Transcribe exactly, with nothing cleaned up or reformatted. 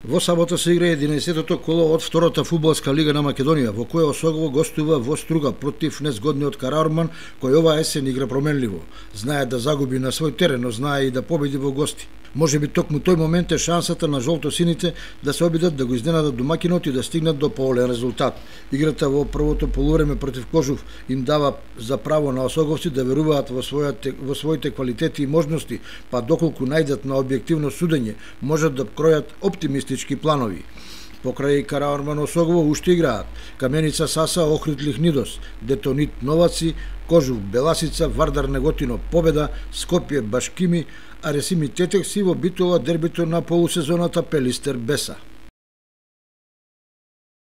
Во сабота се игра единаесеттото коло од втората фудбалска лига на Македонија, во која Осогово гостува во Струга против незгодниот Караорман, кој оваа есен игра променливо. Знае да загуби на свој терен, но знае и да победи во гости. Може би токму тој момент е шансата на жолтосините да се обидат да го изненадат домакинот и да стигнат до поголем резултат. Играта во првото полувреме против Кожув им дава за право на осоговци да веруваат во својате во своите квалитети и можности, па доколку најдат на објективно судење, можат да кројат оптимистички планови. Покрај Караорман Осогово уште играат Каменица Саса Охрид Лихнидос, Детонит Новаци, Кожув Беласица, Вардар Неготино Победа, Скопје Башкими, а Ресими Тетекси во Битола дербито на полусезоната Пелистер Беса.